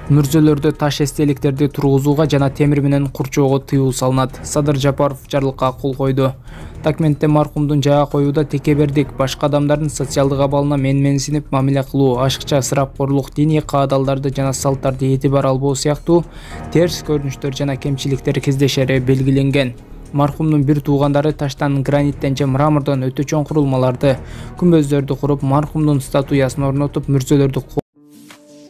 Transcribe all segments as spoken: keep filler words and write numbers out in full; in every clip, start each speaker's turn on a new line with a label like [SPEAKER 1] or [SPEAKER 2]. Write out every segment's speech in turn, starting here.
[SPEAKER 1] Мүрзөлөрдө таш эстеликтерди тургузууга жана темир менен курчоого тыюу салынат. Садыр Жапаров жарлыкка кол койду. Документте маркумдун жайга коюуда текебердик, башка адамдардын социалдык абалына менменсинип мамиле кылуу, ашыкча ысырапкорлук, диний каадалдарды жана салттарды этибар албоо сыяктуу терс көрүнүштөр жана кемчиликтер кездешери белгиленген. Маркумдун бир туугандары таштан, граниттен же мрамордон өтө чоң курулмаларды, күмбөздөрдү куруп, маркумдун статуясын орнотуп, мүрзөлөрдү.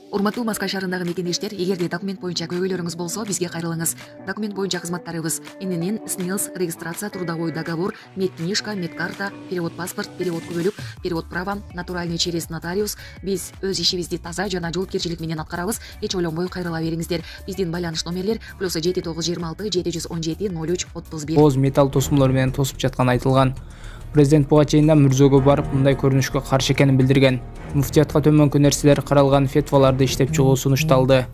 [SPEAKER 2] Урматтуу Маскай шаарындагы мекендештер, эгерде документ боюнча көйгөйлөрүңүз болсо, бизге кайрылыңыз. Документ боюнча кызматтарыбыз: ИНН, СНИЛС, регистрация, трудовой договор, медкнижка, медкарта, перевод паспорт, перевод күбөлүк, перевод права, натуральный через нотариус. Биз өз ишибизди таза жана жоопкерчилик менен аткарабыз. Эч ойлонбой кайрыла бериңиздер. Биздин байланыш номерлер плюс жети тогуз жыйырма алты жети жүз он жети ноль үч отуз бир.
[SPEAKER 1] Оз металл тосмолор менен тосуп жатканы айтылган. Президент буга чейин да мүрзөгө барып, мындай көрүнүшкө каршы экенин билдирген. Муфтиятка төмөнкү нерселер каралган фетваларды иштеп чыгуу сунушталды.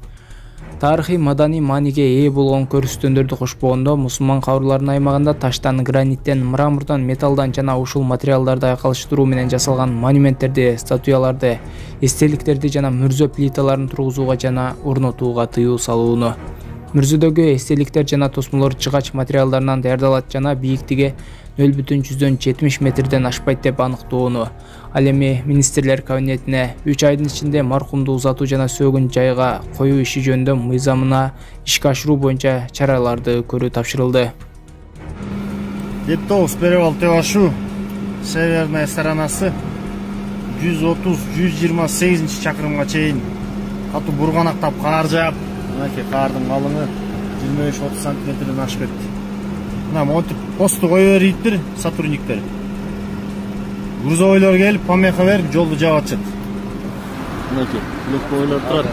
[SPEAKER 1] Тарыхый маданий мааниге ээ болгон көрсөтүүлөрдү кошпогондо, мусулман кабырларынын аймагында таштан, граниттен, мрамордон, металлдан жана ушул материалдарды айкалыштыруу менен жасалган монументтерди, статуяларды, эстеликтерди жана мүрзө плиталарын тургузууга жана орнотууга тыюу салууну. Мүрзөдөгү эстеликтер жана тосмолор чыгач материалдарынан даярдалат жана бийиктиги нөл бүтүн жүздөн жетимиш метрден ашпайт деп аныктоону. Ал эми министрлер кабинетине үч айдын ичинде маркумду узатуу жана сөөгүн жайга коюу иши жөнүндө мыйзамына ишке ашыруу боюнча чараларды көрүү тапшырылды.
[SPEAKER 3] Дептоус перевал Тевашу, северная сторонасы жүз отуз жүз жыйырма сегизинчи чакырымга чейин катуу бурганактап каар жаап, мынакей каардын калыңы жыйырма беш отуз сантиметрден ашып кетти. Мына монтип посту кое бериптир сотрудниктер. Грузовойлор келип, помеха берип, жолду жаап атышат. Мынакей, легковойлор турат.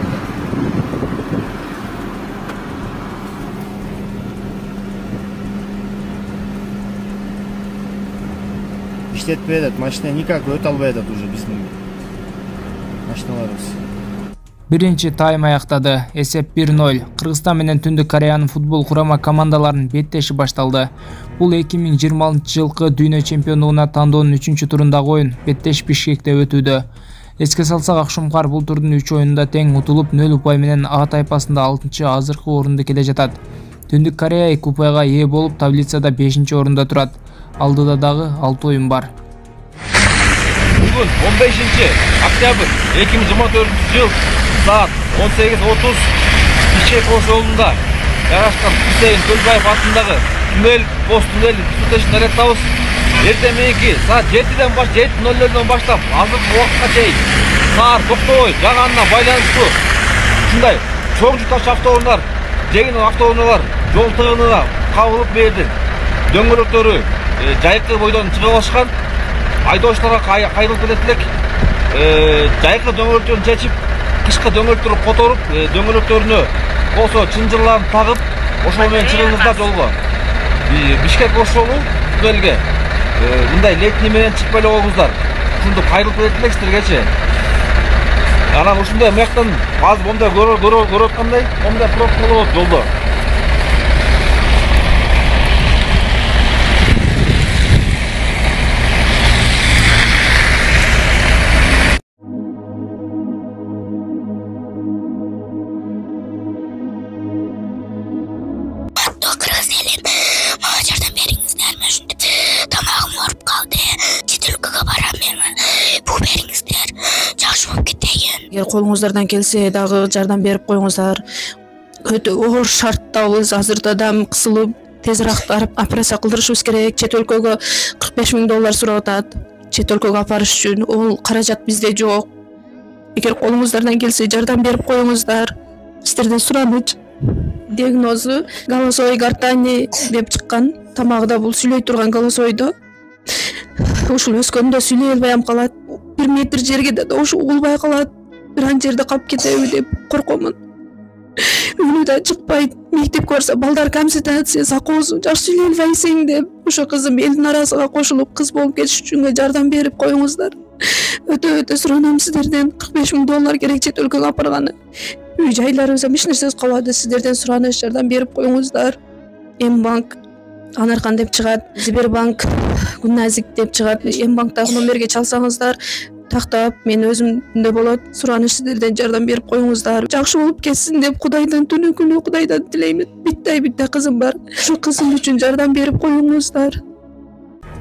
[SPEAKER 3] Иштетпей атат, машина никак өтө албай атат уже биздин машиналарыбыз.
[SPEAKER 1] Биринчи тайм аяктады. Эсеп бир ноль. Кыргызстан менен Түндүк Кореянын футбол курама командаларынын беттеши башталды. Бул эки миң жыйырма алтынчы жылкы дүйнө чемпиондугуна тандоонун үчүнчү турундагы оюн. Беттеш Бишкекте өтүүдө. Эске салсак, Акшумкар бул турдун үч оюнунда тең утулуп, нөл упай менен А тайпасында алтынчы азыркы орунду келе жатат. Түндүк Корея эки упайга ээ болуп, таблицада бешинчи орунда турат. Алдыда дагы алты оюн бар.
[SPEAKER 4] Бүгүн он бешинчи октябрь эки миң жыйырма төртүнчү жыл саат он сегиз отуз Ишек Ош жолунда жайгашкан Хусейин Төлбаев атындагы түнөл пост түнөл суу тешин аяктабыз. Эртең мененки саат жетиден баш жети ноль нолдон баштап азыркы убакытка чейин каар токтобой жааганына байланыштуу ушундай чоң жүк таш автоунаалар, жеңил автоунаалар жол тыгынына кабылып берди. Дөңгөлөктөрү жайкы бойдон чыга башкан. Айдоочуларга кайрылып кетет элек. Жайкы дөңгөлөктөрүн чечип, кышкы дөңгөлөктөрү которуп, дөңгөлөктөрүнө болсо чынжырларын тагып, ошол менен чыгыңыздар жолго. Бишкек Ош жолу түнөлгө мындай летний менен чыкпай эле койгуңуздар. Ушунду кайрылып кетет элек силергечи. Анан ушундай мыяктан азыр мондай көрүп аткандай, мондай пробка болот жолдо.
[SPEAKER 5] Эгер колуңуздардан келсе дагы жардам берип коюңуздар. Өтө оор шарттабыз. Азырда да кысылып, тезирээк операция кылдырышыбыз керек. Чет өлкөгө кырк беш миң доллар сурап атат. Чет өлкөгө апарыш үчүн. Ол каражат бизде жок. Эгер колуңуздардан келсе жардам берип коюңуздар. Сиздерден сураныч. Диагнозу голосовой гортани деп чыккан. Тамагыда бул сүйлөй турган голосойдо. Ушул өскөндө сүйлөй албай калат. бир метр жерге да ушу угулбай калат. Бир ан жерде калып кетеби деп коркомун. Үнү да чыкпайт. Мектепке барса балдар консультация, сакоосу жакшы сүйлөй албайсың деп. Ошо кызым элдин арасына кошулуп кыз болуп кетиш үчүн жардам берип коюңуздар. Өтө өтө суранам сиздерден. кырк беш миң доллар керек чет өлкөгө апарганы. Үй жайларыбыз эч нерсебиз калбады. Сиздерден сураныч, жардам берип коюңуздар. М-банк Анаркан деп чыгат, Сбербанк Гүнназик деп чыгат. М-банктагы номерге чалсаңыздар тактап, мен өзүмдө болот. Сураныш сиздерден жардам берип коюңуздар. Жакшы болуп кетсин деп Кудайдан түнү күнү Кудайдан тилеймин. Битте битте кызым бар. Ушул кызым үчүн жардам берип коюңуздар.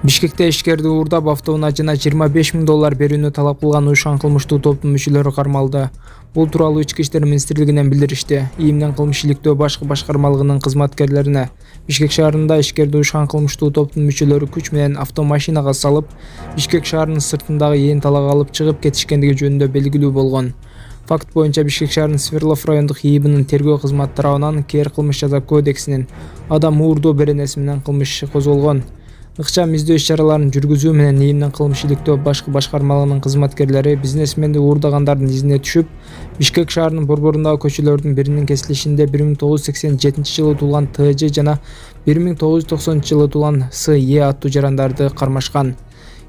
[SPEAKER 1] Бишкекте ишкерди уурдап автоунаажына жыйырма беш миң доллар берүүнү талап кылган уюшкан кылмыштуу топтун мүчөлөрү кармалды. Бул тууралуу Ички иштер министрлигинен билдиришти. ИИМдин кылмыш иликтөө башкы башкармалыгынын кызматкерлерине Бишкек шаарында ишкерди уюшкан кылмыштуу топтун мүчөлөрү күч менен автомашинага салып, Бишкек шаарынын сыртындагы ээн талаага алып чыгып кетишкендиги жөнүндө белгилүү болгон. Факт боюнча Бишкек шаарынын Сверлов райондук ИИБнин тергөө кызматы тарабынан Кээ эр кылмыш жаза кодексинин адам уурдоо беренеси менен кылмыш иши козголгон. Ыкчам издөө иш-чараларын жүргүзүү менен ИИМдин кылмыш иликтөө башкы башкармалыгынын кызматкерлери бизнесменди уурдагандардын изине түшүп, Бишкек шаарынын борборундагы көчөлөрдүн биринин кесилишинде бир миң тогуз жүз сексен жетинчи жылы туулган Т Ж жана бир миң тогуз жүз токсонунчу жылы туулган С Е аттуу жарандарды кармашкан.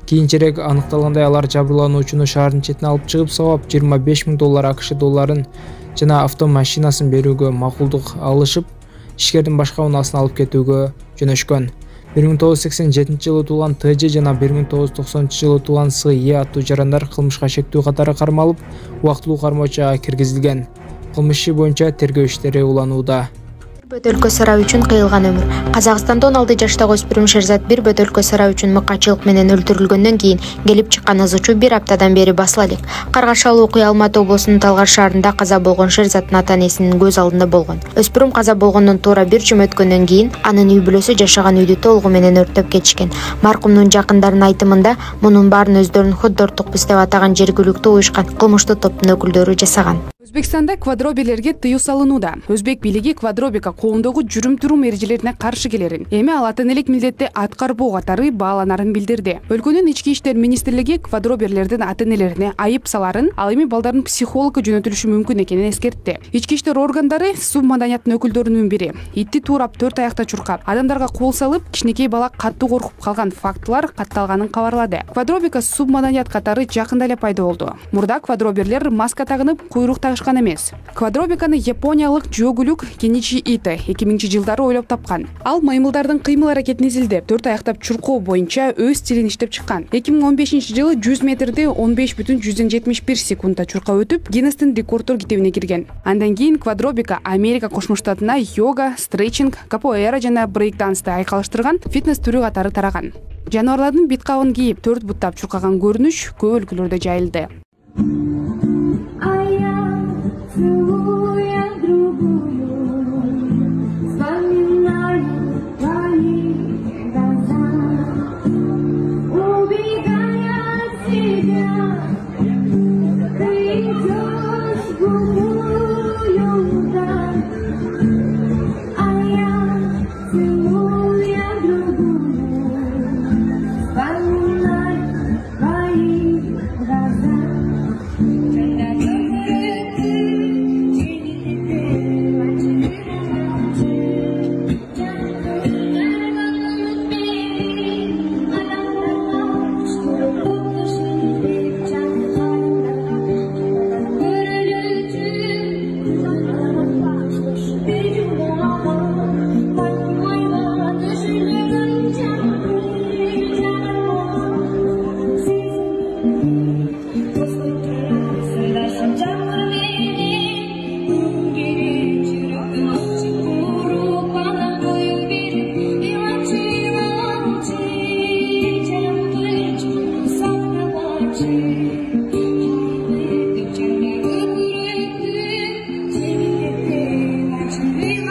[SPEAKER 1] Кийинчерээк аныкталгандай алар жабырлануучуну шаардын четине алып чыгып сабап жыйырма беш миң доллар А К Ш долларын жана автомашинасын берүүгө макулдук алышып, ишкердин башка унаасын алып кетүүгө жөнөшкөн. бир миң тогуз жүз сексен жетинчи жылы туулган Т Ж жана бир миң тогуз жүз токсонунчу жылы туулган С Е аттуу жарандар кылмышка шектүү катары кармалып, убактылуу кармоочага киргизилген. Кылмыш иши боюнча тергөө иштери уланууда.
[SPEAKER 6] Бөтөлкө сарай үчүн кыйылган өмүр. Казакстанда он алты жаштагы өспүрүм Шерзат бир бөтөлкө сарай үчүн мыкачылык менен өлтүрүлгөндөн кийин келип чыккан ызычуу бир аптадан бери басыла элек. Каргашалуу окуя Алматы облусунун Талгар шаарында каза болгон Шерзаттын ата-энесинин көз алдында болгон. Өспүрүм каза болгондон туура бир жум өткөндөн кийин анын үй бүлөсү жашаган үйдү толугу менен өрттөп кетишкен. Маркумдун жакындарынын айтымында мунун баарын өздөрүн ходдортукпуз деп атаган жергиликтүү уюшкан кылмыштуу топтун өкүлдөрү жасаган.
[SPEAKER 7] Өзбекстанда квадроберлерге тыюу салынууда. Өзбек бийлиги квадробика коомдогу жүрүм-турум эрежелерине каршы келерин, эми ал ата-энелик милдетти аткарбоо катары бааланарын билдирди. Өлкөнүн ички иштер министрлиги квадроберлердин ата-энелерине айып саларын, ал эми балдардын психологко жөнөтүлүшү мүмкүн экенин эскертти. Ички иштер органдары субмаданияттын өкүлдөрүнүн бири итти туурап төрт аякта чуркап, адамдарга кол салып, кичинекей бала катуу коркуп калган фактылар катталганын кабарлады. Квадробика субмаданият катары жакында эле пайда болду. Мурда квадроберлер маска тагынып, куйрук тагышкан эмес. Квадробиканы япониялык Жогулюк Кеничи Ито эки миңинчи жылдары ойлоп тапкан. Ал маймылдардын кыймыл аракетин изилдеп, төрт аяктап чуркоо боюнча өз стилин иштеп чыккан. эки миң он бешинчи жылы жүз метрди он беш бүтүн жүздөн жетимиш бир секундда чуркап өтүп, Гиннестин рекорддор китебине кирген. Андан кийин квадробика Америка Кошмо Штатына йога, стретчинг, капоэра жана брейк-дансты айкалыштырган фитнес түрү катары тараган. Жаныбарлардын бит кабын кийип, төрт буттап чуркаган көрүнүш көп өлкөлөрдө жайылды.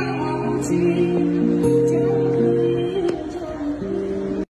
[SPEAKER 8] Thank you.